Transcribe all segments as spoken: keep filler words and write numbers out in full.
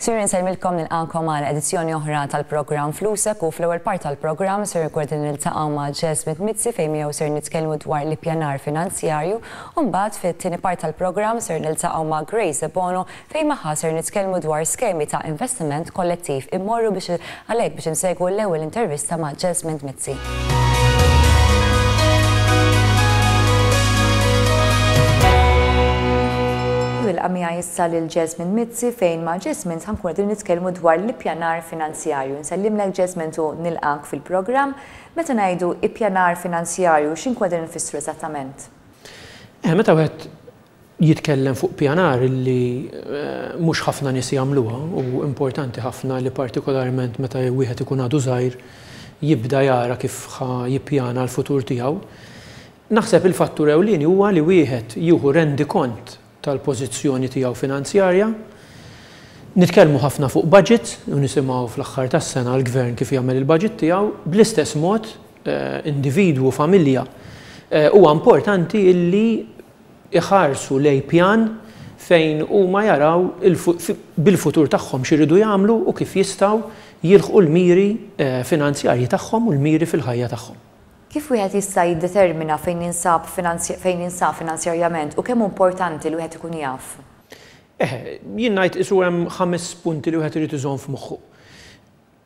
Sinjuri, nsellmilkom, nilqagħkom għal edizzjoni oħra tal-programm Flusek u fl-ewwel part tal-programm ser ikun niltaqgħu ma' Jesmond Mizzi fejn miegħu ser nitkellmu dwar l-ippjanar finanzjarju u mbagħad fit-tieni part tal-programm ser niltaqgħu ma' Grace Bono fejn magħha ser nitkellmu dwar skemi ta' investiment kollettiv. Immorru biex għalhekk biex insegwu l-ewwel intervista ma' Jesmond Mizzi. Nilqa' miegħi issa lil Jesmond Mizzi fejn ma' Jesmond ħa nkunu qegħdin nitkellmu dwar l-ippjanar finanzjarju. Nsellimlek, Jesmond, u nilqak fil-programm. Meta ngħidu ippjanar finanzjarju, x'inkunu qegħdin nfissru eżattament? Eh, meta wieħed jitkellem fuq pjanar illi eh, mhux ħafna nies jagħmluha u importanti ħafna li partikolarment meta wieħed ikun għadu żgħir jibda jara kif ħa jippjana l-futur tiegħu. Naħseb il-fattur ewlieni huwa li wieħed jieħu rendikont tal-pożizzjoni tiegħu finanzjarja. Nitkellmu ħafna fuq budget u nisimgħu fl-aħħar tas-sena l-gvern kif jagħmel il-budget tiegħu, bl-istess mod eh, individwu, familja, eh, huwa importanti illi iħarsu lej pjan fejn huma jaraw bil-futur tagħhom x'iridu jagħmlu u kif jistgħu jilħqu l-miri eh, finanzjarji tagħhom u l-miri fil-ħajja tagħhom. Kif wieħed jista' jiddetermina fejn jinsab fejn jinsab finanzjarjament u kemm importanti li wieħed ikun jaf? Eh, jien ngħid isu hemm ħames punti li wieħed irid iżomm f'moħħu.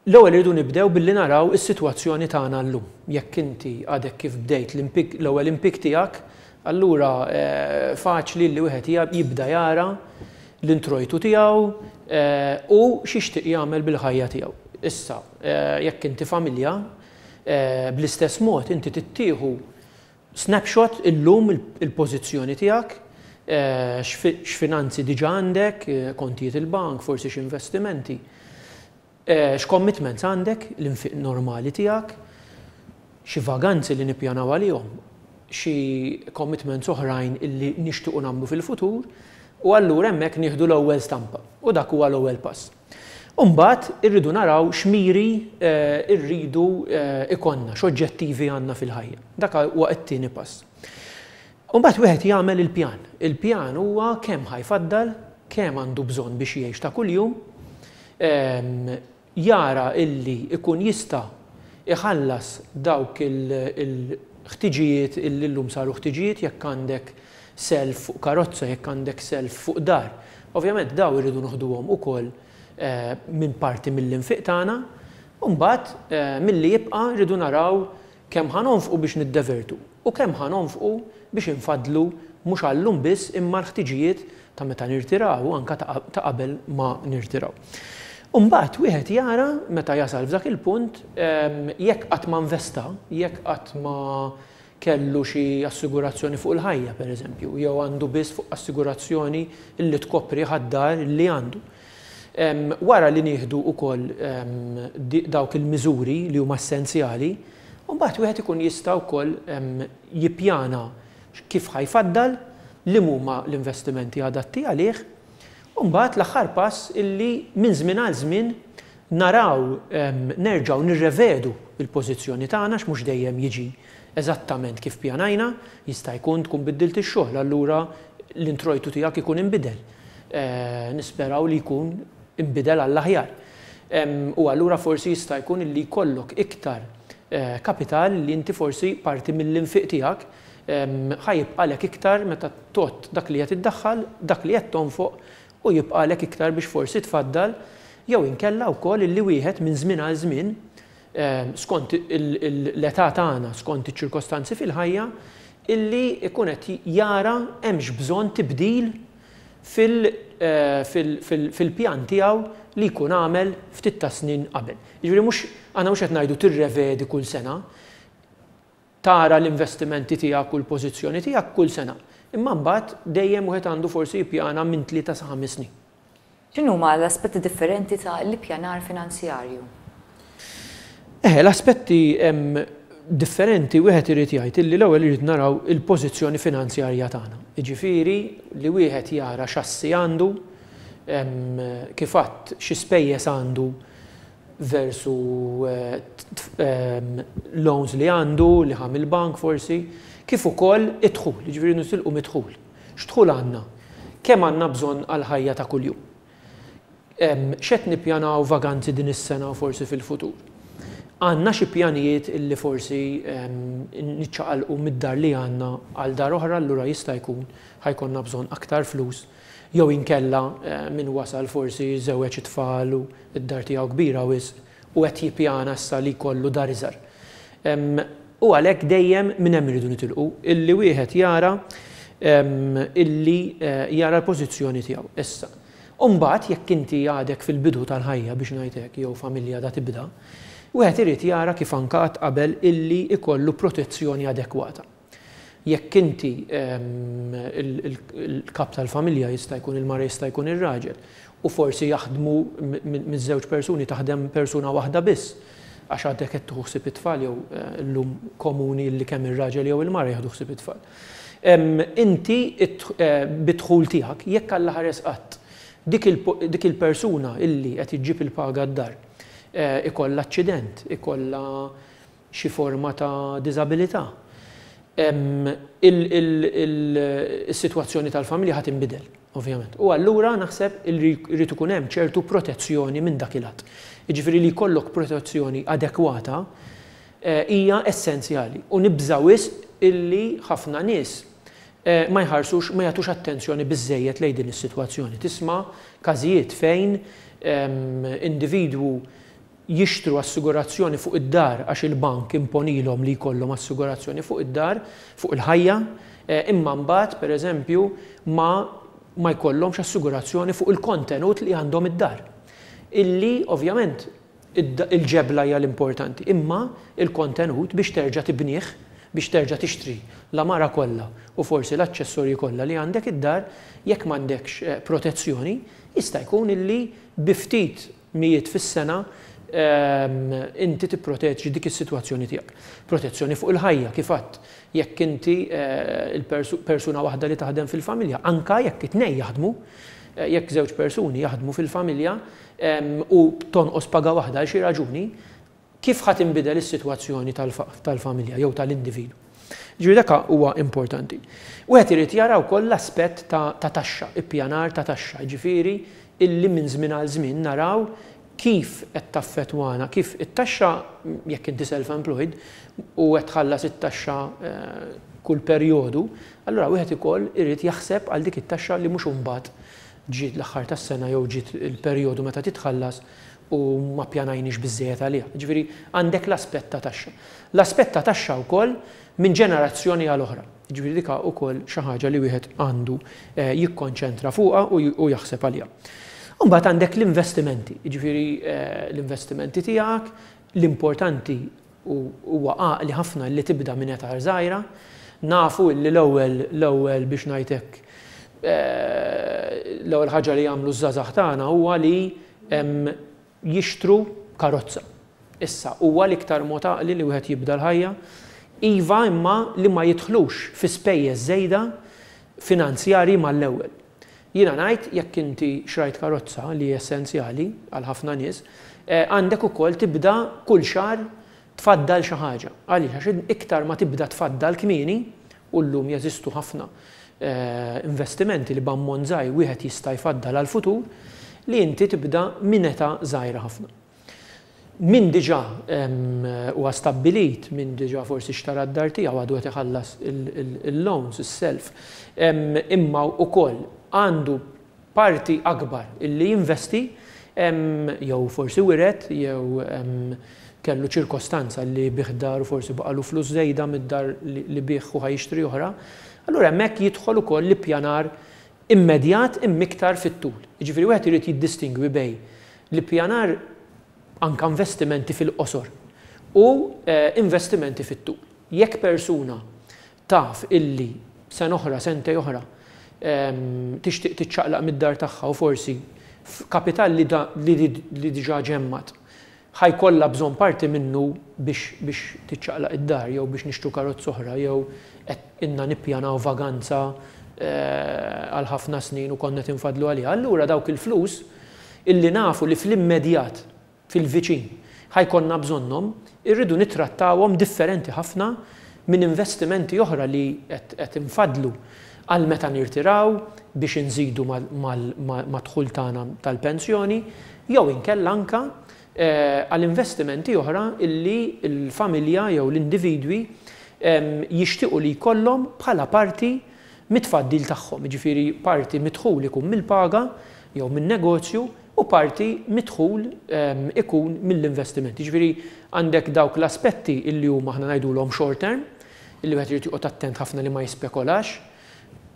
L-ewwel irridu nibdew billi naraw is-sitwazzjoni tagħna llum. Jekk inti għadek kif bdejt l-ewwel impjieg tiegħek, allura eh, faċli li wieħed jibda jara l-introjtu tiegħu eh, u x'ixtieq jagħmel bil-ħajja tiegħu. Issa, eh, jekk inti familja, bl-istess mod inti tittieħu snapshot illum il-pożizzjoni tiegħek, x'finanzi diġà għandek, kontijiet il-bank, forsi x'investimenti, x'commitments għandek, l-infiq normali tiegħek, xi vaganzi li nippjanaw għalihom, xi commitments oħrajn illi nixtiequ nagħmlu fil-futur, u allura hemmhekk nieħdu l-ewwel stampa u dak huwa l-ewwel pass. Umbagħad irridu naraw x'miri rridu ikollna, x'oġġettivi għandna fil-ħajja. Dak huwa t-tieni pass. Umbagħad wieħed jagħmel il-pjan. Il-pjan huwa kemm ħa jfaddal, kemm għandu bżonn biex jgħix ta' kuljum, jara illi ikun jista' iħallas dawk il-ħtiġijiet illi llum saru ħtiġijiet, jekk għandek self fuq karozza, jekk għandek self fuq dar. Ovvjament daw irridu noħduhom ukoll minn parti mill-infiq tagħna, u mbagħad milli jibqa' rridu naraw kemm ħa nonfqu biex niddevertu u kemm ħa nonfqu biex infadlu mhux għallum biss imma l-ħtiġijiet ta' meta nirtiraw u anke ta' qabel ma nirtiraw. U mbagħad wieħed jara meta jasal f'dak il-punt jekk qatt ma investa, jekk qatt ma kellu xi assigurazzjoni fuq il-ħajja pereżempju, jew għandu biss fuq assigurazzjoni li tkopri ħaddar li għandu. Wara li nieħdu wkoll dawk il-miżuri li huma essenzjali, u mbagħad wieħed ikun jista' wkoll jippjana kif ħa jfaddal, li huma l-investimenti adatti għalih, u mbagħad l-aħħar pass illi minn żmien għal żmien naraw nerġgħu nirrevedu l-pożizzjoni tagħna x'mhux dejjem jiġi eżattament kif pjanajna, jista' jkun tkun biddilt ix-xogħol, allura l-introjtu tiegħek ikun inbidel. Nisperaw li jkun inbidel għall-aħjar. U allura forsi jista' jkun li jkollok iktar kapital li inti forsi parti mill-infiq tiegħek ħa jibqalek iktar meta tot dak li qed iddaħħal, dak li qed tonfoq u jibqalek iktar biex forsi tfaddal, jew inkella wkoll illi wieħed minn żmien għal żmien skont l-età tagħna, skont iċ-ċirkostanzi fil-ħajja, illi ikun qed jara hemmx bżonn tibdil fil-pjan tiegħu li jkun għamel ftit ta' snin qabel. Jiġifieri mhux aħna mhux qed ngħidu tirrevedi kull sena, tara l-investimenti tiegħek u l-pożizzjoni tiegħek kull sena. Imma mbagħad dejjem wieħed għandu forsi jippjana minn tlieta sa ħames snin. X'inhuma l-aspetti differenti ta' l-ippjanar finanzjarju? Eh, l-aspetti differenti wieħed irid jgħid illi l-ewwel irid naraw il-pożizzjoni finanzjarja tagħna. Jiġifieri li wieħed jara x'assi għandu, kif għadd xi spejjeż għandu versu loans li għandu, li ħa mill-bank forsi, kif ukoll id-dħul, jiġifieri nisilqu mid-dħul. X'dħul għandna? Kemm għandna bżonn għall-ħajja ta' kuljum? X'qed nippjanaw vaganzi din is-sena u forsi fil-futur? Għandna xi pjanijiet illi forsi niċċaqalqu mid-dar li għandna għal dar oħra, allura jista' jkun ħa jkollna bżonn aktar flus, jew inkella min wasal forsi żewweġ it-tfal u d-dar tiegħu kbira wisq u qed jippjana issa li jkollu dar iżgħar. U għalhekk dejjem minn hemm iridu nitilqu, illi wieħed jara illi jara l-pożizzjoni tiegħu. Issa, imbagħad jekk inti għadek fil-bidu tal-ħajja biex ngħid hekk, jew familja da tibda, wieħed irid jara kif anke qatt qabel illi ikollu protezzjoni adekwata. Jekk inti il-kap tal-familja, jista' jkun il-mara, jista' jkun ir-raġel, u forsi jaħdmu miż-żewġ persuni, taħdem persuna waħda biss, għax għadek qed tieħu ħsieb it-tfal, jew llum komuni li kemm ir-raġel jew il-mara jieħdu ħsieb it-tfal. Inti bid-dħul tiegħek, jekk Alla ħares qatt dik il-persuna illi qed iġġib il-paga d-dar ikollha aċċident, ikollha xi forma ta' diżabilità, il-sitwazzjoni tal-familja ħa tinbidel, ovvjament. U allura naħseb irrid ikun hemm ċertu protezzjoni minn dak il-lat. Jiġifieri li jkollok protezzjoni adekwata hija essenzjali. U nibża' wisq illi ħafna nies ma jħarsux, ma jagħtux attenzjoni biżżejjed lejn din is-sitwazzjoni. Tisma' każijiet fejn individwu jixtru assigurazzjoni fuq id-dar għax il-bank imponilhom li jkollhom assigurazzjoni fuq id-dar, fuq il-ħajja, imma mbagħad pereżempju ma ma jkollhomx assigurazzjoni fuq il-kontenut li għandhom id-dar. Illi ovvjament il-ġebla hija l-importanti, imma il-kontenut biex terġa' tibnieh, biex terġa' tixtri l-għamara kollha u forsi l-aċċessorji kollha li għandek id-dar, jekk m'għandekx protezzjoni, jista' jkun illi bi ftit mijiet fis-sena inti tipproteġi dik is-sitwazzjoni tiegħek. Protezzjoni fuq il-ħajja, kif għadt, jekk inti il-persuna waħda li taħdem fil-familja, anka jekk it-tnejn jaħdmu, jekk żewġ persuni jaħdmu fil-familja u tonqos paga waħda għal xi raġuni, kif ħa tinbidel is-sitwazzjoni tal-familja jew tal-individwu. Ġifieri dak huwa importanti. Wieħed irid jara wkoll l-aspett ta' taxxa, ippjanar ta' taxxa, ġifieri illi minn żmien għal żmien naraw kif qed taffettwana, kif it-taxxa, jekk inti self-employed u qed tħallas it-taxxa kull perjodu, allura wieħed ukoll irid jaħseb għal dik it-taxxa li mhux imbagħad ġiet l-aħħar tas-sena jew ġiet il-perjodu meta titħallas u ma ppjanajniex biżżejjed għaliha. Ġifieri għandek l-aspett ta' taxxa. L-aspett ta' taxxa wkoll minn ġenerazzjoni għal oħra. Ġifieri dik ukoll xi ħaġa li wieħed għandu jikkonċentra fuqha u jaħseb għaliha. Imbagħad għandek l-investimenti, ġifieri l-investimenti tiegħek, l-importanti huwa għaqli ħafna li tibda minn età żgħira. Nafu li l-ewwel l-ewwel biex ngħidlek l-ewwel ħaġa li jagħmlu ż-żgħażagħ tagħna huwa li jixtru karozza. Issa huwa l-iktar mod għaqli li wieħed jibda l-ħajja, iva imma li ma jidħlux fi spejjeż żejda finanzjarji mal-ewwel. Jiena ngħid jekk inti xrajt karozza li hija essenzjali għal ħafna nies, għandek ukoll tibda kull xahar tfaddal xi ħaġa. Għaliex? Għax iktar ma tibda tfaddal kmieni, u llum jeżistu ħafna investimenti li b'ammont żgħir wieħed jista' jfaddal għall-futur, li inti tibda minn età żgħira ħafna. Min diġà huwa stabbilit, min diġà forsi xtara d-dar tiegħu għadu qed iħallas il-loans, is-self, imma wkoll għandu parti akbar illi jinvesti, jew forsi wiret, jew kellu ċirkostanza li biegħ dar u forsi baqalu flus żejda mid-dar li biegħ u ħa jixtri oħra, allura hemmhekk jidħol ukoll l-ippjanar immedjat imma iktar fit-tul. Jiġifieri wieħed irid jiddistingwi bejn l-ippjanar anka investimenti fil-qosor u investimenti fit-tul. Jekk persuna taf illi sena oħra, sentej oħra, tixtieq tiċċaqlaq mid-dar tagħha u forsi kapital li diġà ġemmat ħajkollha bżonn parti minnu biex biex tiċċaqlaq id-dar jew biex nixtru karozza oħra jew qed inna nippjanaw vaganza għal ħafna snin u konna tinfadlu għaliha. Allura dawk il-flus illi nafu li fl-immedjat, fil-viċin, ħajkonna bżonnhom, irridu nittrattawhom differenti ħafna minn investimenti oħra li qed infadlu għal meta nirtiraw biex inżidu mad-dħul tagħna tal-pensjoni, jew inkella anka għal investimenti oħra illi l-familja jew l-individwi jixtiequ li jkollhom bħala parti mit-tfaddil tagħhom, jiġifieri parti mid-dħul ikun mill-paga jew min-negozju u parti mid-dħul ikun mill-investiment. Jiġifieri għandek dawk l-aspetti illi huma aħna ngħidulhom short term, illi wieħed irid joqgħod attent ħafna li ma jispekolax,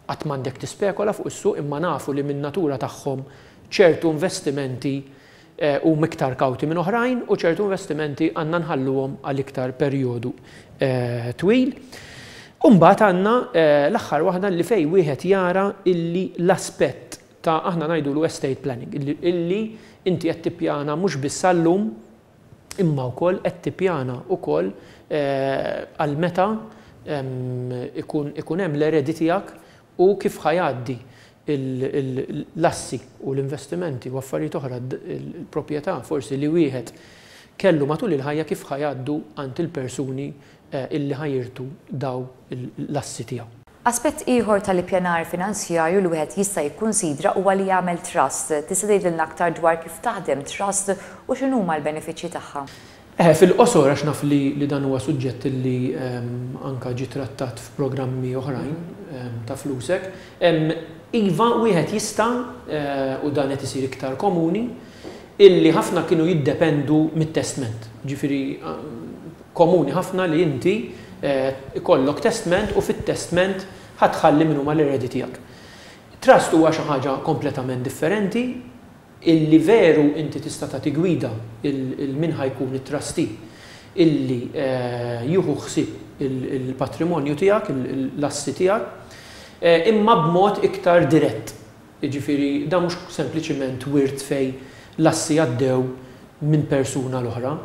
qatt m'għandek tispekola fuq is-suq, imma nafu li min-natura tagħhom ċertu investimenti huma iktar kawti minn oħrajn u ċertu investimenti għandna nħalluhom għal iktar perjodu twil. U mbagħad għandna l-aħħar waħda li fej wieħed jara illi l-aspett ta' aħna ngħidulu estate planning, illi inti qed tippjana mhux biss għallum imma wkoll qed tippjana wkoll għal meta ikun hemm l-eredi tiegħek u kif ħajgħaddi l-assi u l-investimenti u affarijiet oħra, il-proprjetà forsi li wieħed kellu matul il-ħajja kif ħajgħaddu għand il-persuni illi ħajirtu daw l-assi tiegħu. Aspett ieħor tal-ippjanar finanzjarju li wieħed jista' jikkunsidra huwa li jagħmel trust. Tista' tgħidilna aktar dwar kif taħdem trust u x'inhuma l-benefiċċji tagħha? Eh, fil-qosor għax naf li, li dan huwa suġġett li um, anka ġie trattat f'programmi oħrajn um, ta' Flusek. Um, iva, wieħed jista', uh, u dan qed isir iktar komuni, illi ħafna kienu jiddependu mit-testment. Ġifieri um, komuni ħafna li inti uh, ikollok testment u fit-testment ħatħalli min huma l-eredi tiegħek. Trust huwa xi ħaġa kompletament differenti, illi veru inti tista' tagħti gwida il-min ħajkun it-trustee illi jieħu ħsieb il-patrimonju tiegħek, l-assi tiegħek, imma b'mod iktar dirett. Jiġifieri dan mhux sempliċiment wirt fej l-assi għaddew minn persuna l-oħra.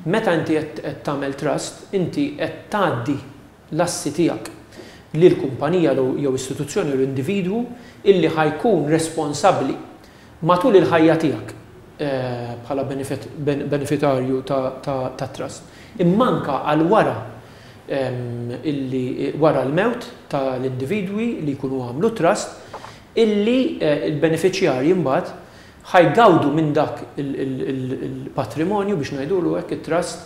Meta inti qed tagħmel trust, inti qed tgħaddi l-assi tiegħek lil kumpanija jew istituzzjoni jew individwu illi ħajkun responsabbli matul il-ħajja tiegħek bħala benefitarju ta' trust. Imma anka għal wara illi wara l-mewt tal-individwi li jkunu għamlu trust, illi il-beneficjarji mbagħad ħajgawdu minn dak il-patrimonju biex ngħidulu hekk it-trust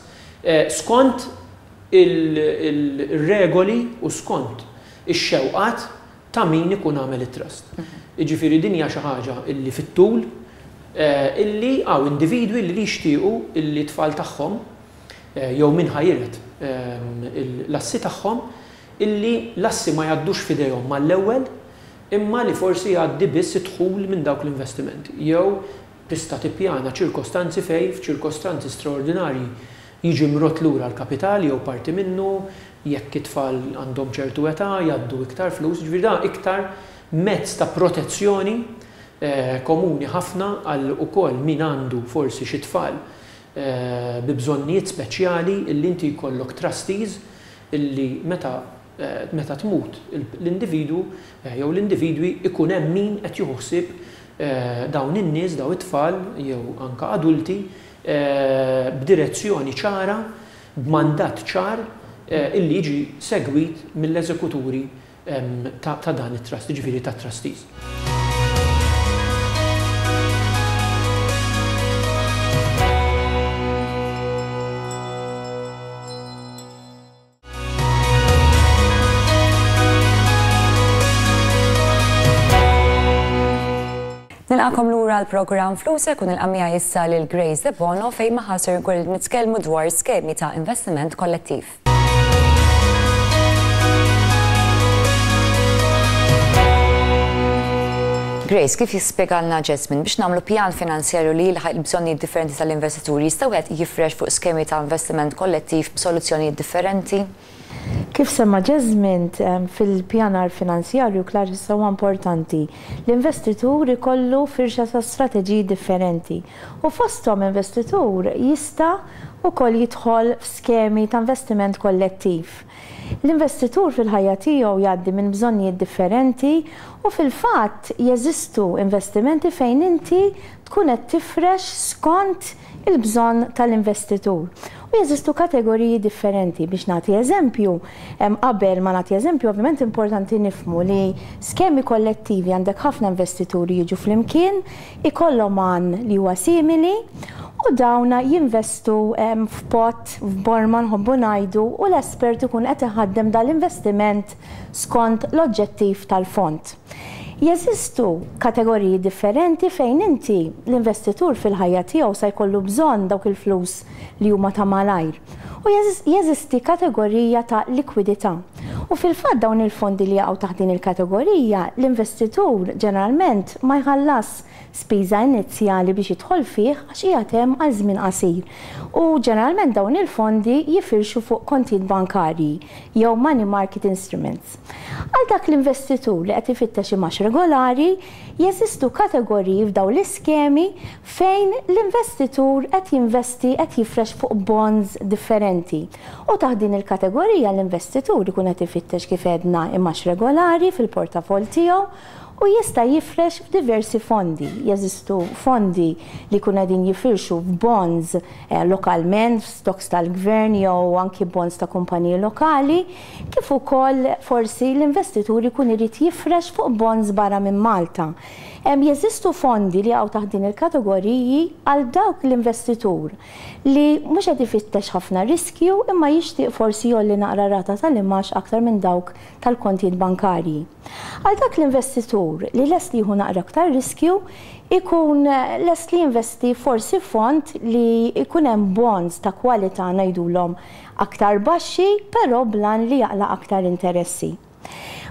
skont il-regoli u skont ix-xewqat ta' min ikun għamel it-trust. Jiġifieri din hija xi ħaġa illi fit-tul illi hawn individwi li jixtiequ illi tfal tagħhom jew min ħajret l-assi tagħhom illi l-assi ma jgħaddux f'idejhom mal-ewwel imma li forsi jgħaddi biss idħul minn dawk l-investimenti. Jew tista' tippjana ċirkostanzi fej f'ċirkostanzi straordinarji jiġi mrot lura l-kapital jew parti minnu, jekk it-tfal għandhom ċertu età jgħaddu iktar flus, ġifieri dan iktar mezz ta' protezzjoni komuni ħafna għal ukoll min għandu forsi xi tfal bi bżonnijiet speċjali illi inti jkollok trustees illi meta meta tmut l-individwu jew l-individwi ikun hemm min qed jieħu ħsieb dawn in-nies, dawn it-tfal jew anka adulti b'direzzjoni ċara, b'mandat ċar illi jiġi segwit mill-eżekuturi ta' dan it-trust, jiġifieri ta' trustees. Nilqakom lura l-programm Flusek u nilqa' miegħi issa lil Grace Debono fejn magħha ser nkun nitkellmu dwar skemi ta' investiment kollettiv. Grace, kif jispjegalna Jesmond biex nagħmlu pjan finanzjarju li jilħaq il-bżonnijiet differenti tal-investituri jista' wieħed jifrex fuq skemi ta' investiment kollettiv b'soluzzjonijiet differenti? Kif semma Jesmond, fil-pjanar finanzjarju klar issa huwa importanti l-investitur ikollu firxa ta' strateġiji differenti u fosthom investitur jista' wkoll jidħol f'skemi ta' investiment kollettiv. L-investitur fil-ħajja tiegħu jgħaddi minn bżonnijiet differenti u fil-fatt jeżistu investimenti fejn inti tkun qed tifrex skont il-bżonn tal-investitur. U jeżistu kategoriji differenti. Biex nagħti eżempju, qabel ma nagħti eżempju, ovvjament importanti nifhmu li skemi kollettivi għandek ħafna investituri jiġu flimkien, ikollhom għan li huwa simili, u dawna jinvestu f'pot, f'borma nħobbu ngħidu, u l-espert ikun qed iħaddem dal-investiment skont l-oġġettiv tal-fond. Jeżistu kategoriji differenti fejn inti l-investitur fil-ħajja tiegħu sa jkollu bżonn dawk il-flus li huma ta' malajr. U jeżisti kategorija ta' likwidità. U fil-fatt dawn il-fondi li jaqgħu taħt din il-kategorija, l-investitur ġeneralment ma jħallas spiża inizjali biex jidħol fih għax qiegħed hemm għal żmien qasir. U ġeneralment dawn il-fondi jifirxu fuq kontijiet bankarji jew money market instruments. Għal dak l-investitur li qed ifittex imgħax regolari, jeżistu kategoriji f'dawn l-iskemi fejn l-investitur qed jinvesti, qed jifrex fuq bonds differenti. U taħt din il-kategorija l-investitur ikun qed ifittex, kif għedna, imgħax regolari fil-portafol tiegħu u jista' jifrex f'diversi fondi. Jeżistu fondi li jkunu qegħdin jifirxu f'bonds eh, lokalment, f'stocks tal-gvern jew anki bonds ta' kumpaniji lokali, kif ukoll forsi l-investitur ikun irid jifrex fuq bonds barra minn Malta. Jeżistu fondi li jaqgħu taħt din il-kategoriji għal dawk l-investitur li mhux qed ifittex ħafna riskju imma jixtieq forsi jgħolli naqra rata tal-imgħax aktar minn dawk tal-kontijiet bankarji. Għal dak l-investitur li lest li jieħu naqra aktar riskju, ikun lest li jinvesti forsi fond li ikun hemm bonds ta' kwalità, ngħidulhom, aktar baxxi, però b'għan li jaqla' aktar interessi.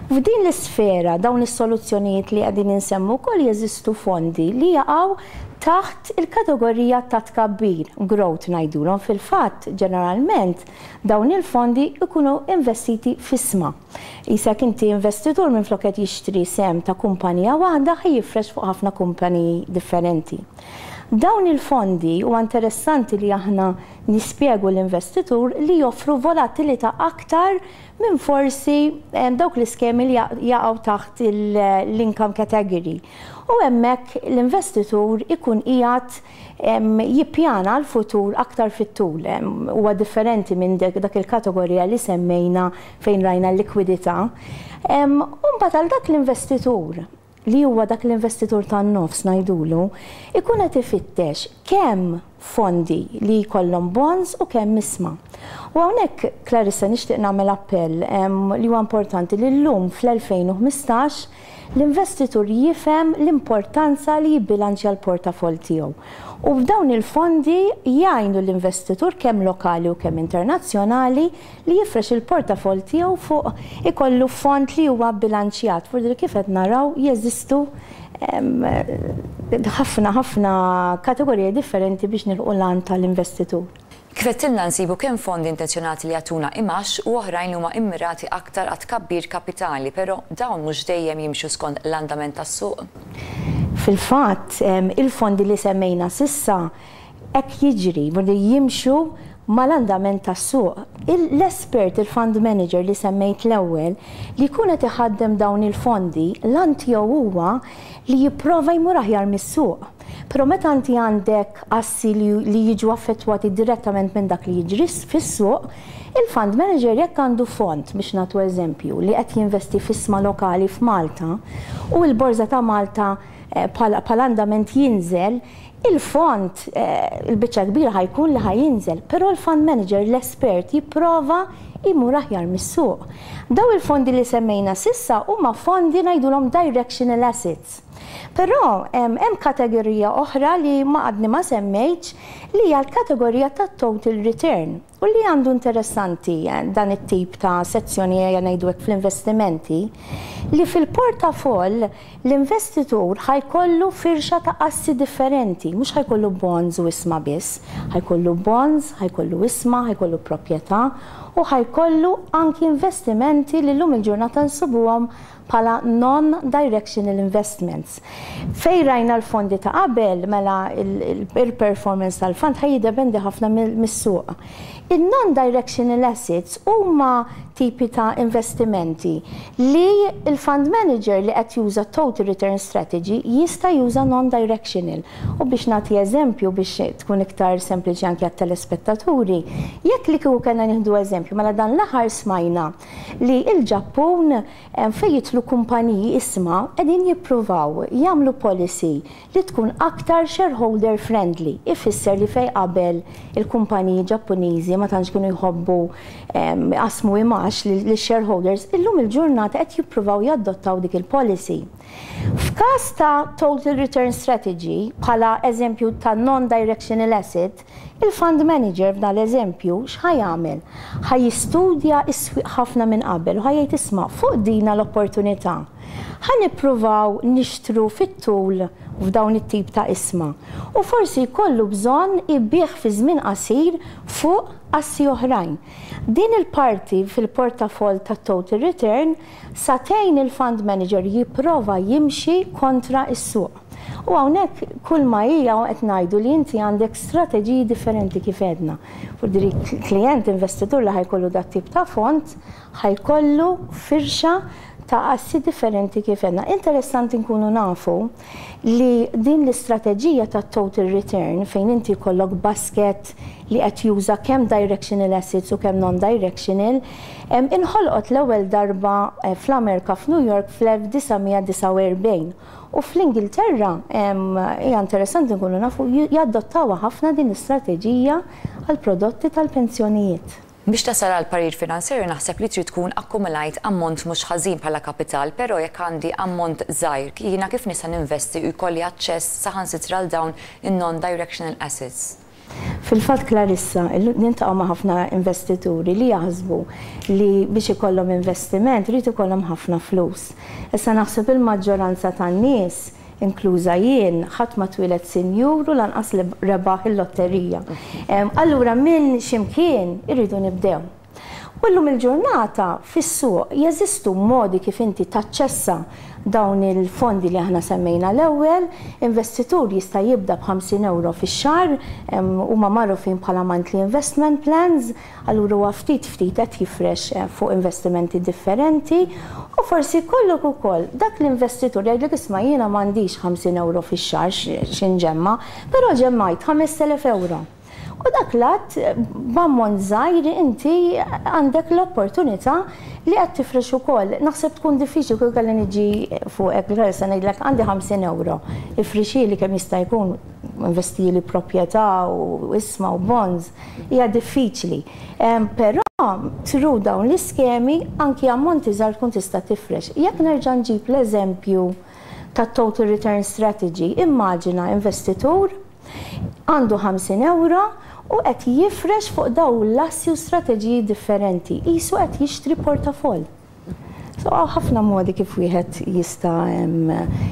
F'din l-isfera, dawn is-soluzzjonijiet li qegħdin insemmu wkoll, jeżistu fondi li jaqgħu taħt il-kategorija ta' tkabbir, growth ngħidulhom. Fil-fatt, ġeneralment, dawn il-fondi ikunu investiti f'ishma. Qisek inti investitur minn flok qed jixtri sehem ta' kumpanija waħda, ħa jifrex fuq ħafna kumpaniji differenti. Dawn il-fondi u interessanti li aħna nispjegu l-investitur li joffru volatilità aktar minn forsi dawk l-iskemi li jaqgħu taħt l-income category. U hemmhekk l-investitur ikun qiegħed jippjana l-futur aktar fit-tul. Huwa differenti minn dak il-kategorija li semmejna fejn rajna l-likwidità. U mbagħad għal dak l-investitur li huwa dak l-investitur tan-nofs ngħidulu, ikun qed ifittex kemm fondi li jkollhom bonds u kemm ishma. U hawnhekk, Clarissa, nixtieq nagħmel appell li huwa importanti li llum fl-elfejn u ħmistax l-investitur jifhem l-importanza li jibbilanċja l-portafol tiegħu. U f'dawn il-fondi jgħinu l-investitur kemm lokali u kemm internazzjonali li jifrex il-portafol tiegħu fuq ikollu fond li huwa bilanċjat. Furdir kif qed naraw, jeżistu ħafna ħafna kategoriji differenti biex nilħqu l-għan tal-investitur. Kif għedtilna, nsibu kemm fondi intenzjonati li jagħtuna imgħax u oħrajn li huma immirati aktar għat tkabbir kapitali, però dawn mhux dejjem jimxu skont l-andament tas-suq. Fil-fatt, il-fondi li semmejna s'issa hekk jiġri, li jimxu mal-andament tas-suq. L-espert, il-fund manager li semmejt l-ewwel, li jkun qed iħaddem dawn il-fondi, l-għan tiegħu huwa li jipprova jmur aħjar mis-suq. Però meta inti għandek assi li jiġu affettwati direttament minn dak li jiġri fis-suq, il-fund manager jekk għandu fond, biex nagħtu eżempju, li qed jinvesti f'ishma lokali f'Malta u l-Borża ta' Malta eh, bħala andament jinżel, il-fond eh, il-biċċa kbira ħa jkun li ħa jinżel, però l-fund manager, l-espert, jipprova imur aħjar mis-suq. Dawn il-fondi li semmejna s'issa huma fondi ngħidulhom directional assets. Però hemm kategorija oħra li ma għadni ma semmejtx, li hija l-kategorija ta' total return. U li għandu interessanti eh, dan it-tip ta' sezzjoni, ngħidu hekk, fl-investimenti, li fil-portafoll l-investitur ħa jkollu firxa ta' assi differenti, mhux ħa jkollu bonds u ishma biss, ħa jkollu bonds, ħa jkollu ishma, ħa jkollu proprjetà u ħa jkollu anki investimenti li llum il-ġurnata nsibuhom bħala non-directional investments. Fej rajna l-fondi ta' qabel, mela il-performance tal-fond ħa jiddependi ħafna mis-suq. Il-non-directional assets huma tipi ta' investimenti li il-fund manager li qed juża total return strategy jista' juża non-directional. U biex nagħti eżempju biex tkun iktar sempliċi anke għat-telespettaturi, jekk li kieku kellna nieħdu eżempju, mela dan l-aħħar smajna li il-Ġappun fejn jidħlu kumpaniji isma qegħdin jippruvaw jagħmlu policy li tkun aktar shareholder friendly. Ifisser li fej qabel il-kumpaniji Ġappuniżi ma tantx kienu jħobbu qasmu imgħax li shareholders, illum il-ġurnata qed jippruvaw jadottaw dik il-policy. F'każ ta' total return strategy, bħala eżempju ta' non-directional asset, il-fund manager f'dan l-eżempju x'ħa jagħmel? Ħa jistudja s-swieq ħafna minn qabel u ħa jgħid, "Isma', fuq dina l-opportunità. Ħa nippruvaw nixtru fit-tul f'dawn it-tip ta' ishma." U forsi jkollu bżonn ibigħ fi żmien qasir fuq assi oħrajn. Din il-parti fil-portafol ta' total return sa tgħin il-fund manager jipprova jimxi kontra is-suq. U hawnhekk kull ma hija qed ngħidu li inti għandek strateġiji differenti kif għedna. Furdiri klient investitur li ħa jkollu dat tip ta' fond ħa jkollu firxa ta' assi differenti kif għedna. Interessanti nkunu nafu li din l-istrateġija ta' total return, fejn inti jkollok basket li qed juża kemm directional assets u kemm non-directional, inħolqot l-ewwel darba eh, fl-Amerika, f'New York, fl-elf disa' mija disgħa u erbgħin. U fl-Ingilterra, hija interessanti nkunu nafu, jadottawha ħafna din l-istrateġija għal prodotti tal-pensjonijiet. Biex tasal għal parir finanzjarju naħseb li trid tkun akkumulajt ammont mhux ħażin bħala kapital, però jekk għandi ammont żgħir, jiena kif nista' ninvesti u jkolli aċċess saħansitra għal dawn in-non-directional assets? Fil-fatt, Clarissa, niltaqgħu ma' ħafna investituri li jaħsbu li biex ikollhom investiment irid ikollhom ħafna flus. Issa naħseb il-maġġoranza tan-nies, inkluża jien, ħadd ma twieled sinjur u lanqas li rebaħ il-lotterija. Allura minn ximkien irridu nibdew. U llum il-ġurnata fis-suq jeżistu modi kif inti taċċessa dawn il-fondi li aħna semmejna l-ewwel. Investitur jista' jibda b'ħamsin euro fix-xahar, huma magħrufin bħala monthly investment plans, allura huwa ftit ftit qed jifrex eh, fuq investimenti differenti u forsi jkollok ukoll dak l-investitur jgħidlek, "Isma', jiena m'għandix ħamsin euro fix-xahar x'inġemma, però ġemmajt ħamest elef euro." U dak lat b'ammont żgħir inti għandek l-opportunità li qed tifrex ukoll. Naħseb tkun diffiċli kull kelli niġi fuq hekk se ngħidlek għandi ħamsin euro. Ifrixili kemm jista' jkun, investili proprjetà u ishma u bonds, hija diffiċli. Però through dawn l-iskemi anki ammonti żgħar tkun tista' tifrex. Jekk nerġa' nġib l-eżempju ta' total return strategy, immaġina investitur għandu ħamsin euro u qed jifrex fuq dawn l-assi u strateġiji differenti. Qisu qed jixtri portafoll. So ħafna modi kif wieħed jista'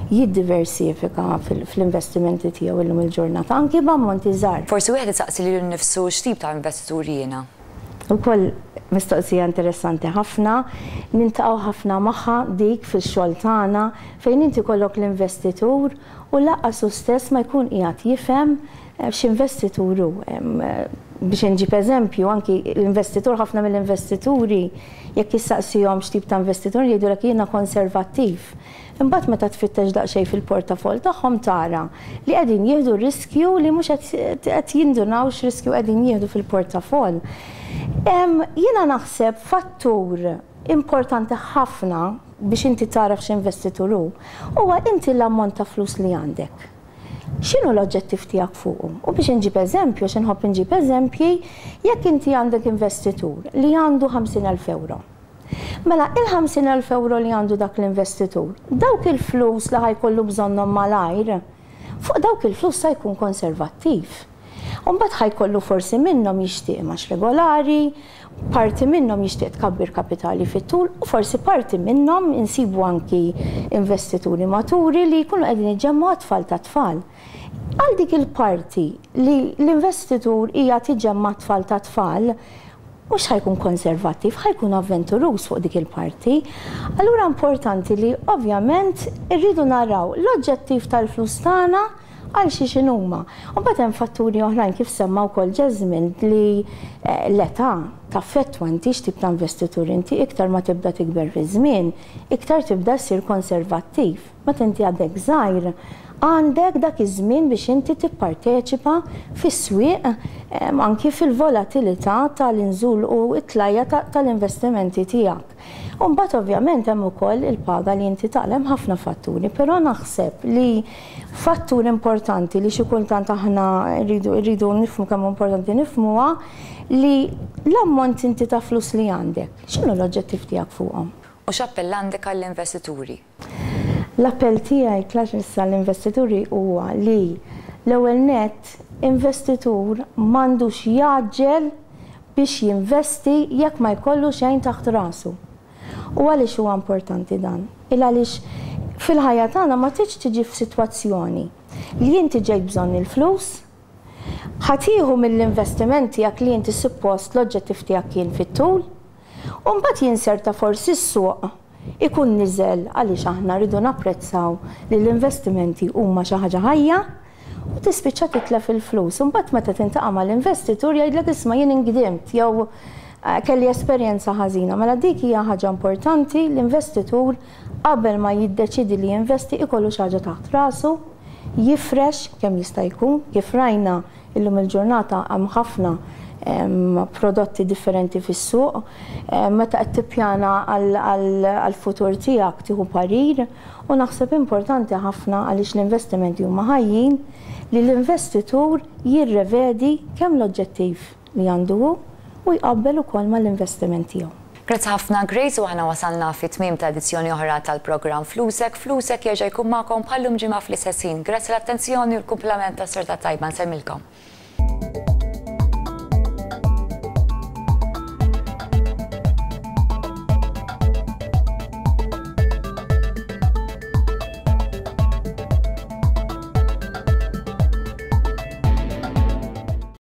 jiddiversifika fl-investimenti tiegħu illum il-ġurnata, anki b'ammonti żgħar. Forsi wieħed isaqsi lilu nnifsu, x'tip ta' investitur jiena? Ukoll mistoqsija interessanti ħafna, niltaqgħu ħafna magħha dik fil-xogħol tagħna, fejn inti jkollok l-investitur u lanqas hu stess ma jkun qiegħed jifhem eh, x'investitur hu. Biex nġib eżempju, anki l-investitur, ħafna mill-investituri, jekk issaqsihom x'tip ta' investitur, jgħidulek, "Jiena konservattiv." Imbagħad meta tfittex daqsxejn fil-portafol tagħhom tara li qegħdin jieħdu riskju li mhux qed jindunaw x'riskju qegħdin jieħdu fil-portafol. Jiena naħseb fattur importanti ħafna biex inti taraf x'investitur hu, huwa inti l-ammont ta' flus li għandek. X'inhu l-oġġettiv tiegħek fuqu? U biex nġib eżempju, x'inħobb nġib eżempji, jekk inti għandek investitur li għandu ħamsin elf euro. Mela, il-ħamsin elf euro li għandu dak l-investitur, dawk il-flus li ħa jkollu bżonnhom malajr, fuq dawk il-flus sa jkun konservattiv. Umbagħad ħa jkollu forsi minnhom jixtieq imgħax regolari, parti minnhom jixtieq tkabbir kapitali fit-tul u forsi parti minnhom insibu anki investituri maturi li jkunu qegħdin iġemmgħu għat-tfal ta' tfal. Għal dik il-parti li l-investitur hija tiġemma' tfal ta' tfal, mhux ħa jkun konservattiv, ħa jkun avventuruż fuq dik il-parti. Allura importanti li ovvjament irridu naraw l-oġġettiv tal-flus tagħna għal xi x'inhuma. U mbagħad hemm fatturi oħrajn, kif semma wkoll Jesmond, li eh, l-età taffettwa inti x'tip ta' investitur inti. Iktar ma tibda tikber fi żmien, iktar tibda ssir konservattiv. Meta inti għadek żgħir, għandek dak iż-żmien biex inti tipparteċipa fis-swieq, anki fil-volatilità tal-inżul u t-tlajja tal-investimenti tiegħek. U mbagħad ovvjament hemm ukoll il-paga li inti taqla', ħafna fatturi, però naħseb li fattur importanti li xi kultant aħna rridu rridu nifhmu kemm importanti nifhmuha, li l-ammont inti ta' flus li għandek, x'inhu l-oġġettiv tiegħek fuqhom? U x'appell għandek għall-investituri? L-appell tiegħi, Clarissa, l-investituri huwa li l-ewwel net investitur m'għandux jgħaġġel biex jinvesti jekk ma jkollu xejn taħt rasu. U għaliex huwa importanti dan? Il għaliex fil-ħajja tagħna ma tridx tiġi f'sitwazzjoni li inti ġejt bżonn il-flus, ħa tieħu mill-investiment tiegħek li inti suppost l-oġġettiv tiegħek kien fit-tul, u mbagħad jinserta forsi s-suq ikun niżel, għaliex aħna rridu napprezzaw li l-investimenti huma xi ħaġa ħajja, u tispiċċa titlef il-flus. U mbagħad meta tiltaqa' mal-investitur jgħidlek, "Isma', jien ingdimt jew eh, kelli esperjenza ħażina." Mela dik hija ħaġa importanti, l-investitur qabel ma jiddeċidi li jinvesti ikollu xi ħaġa taħt rasu, jifrex kemm jista' jkun. Kif rajna, illum il-ġurnata hemm ħafna prodotti differenti fis-suq. Meta qed tippjana għall-futur tiegħek, tieħu parir, u naħseb importanti ħafna, għaliex l-investimenti huma ħajjin, li l-investitur jirrevedi kemm l-oġġettiv li għandu u jqabbel ukoll mal-investiment tiegħu. Grazzi ħafna, Grace, u aħna wasalna fi tmiem ta' edizzjoni oħra tal-programm Flusek. Flusek jerġa' jkun magħkom bħal-lum ġimgħa fl-istess ħin. Grazzi l-attenzjoni u l-kumplament ta' serata tajba. Nsellmilkom.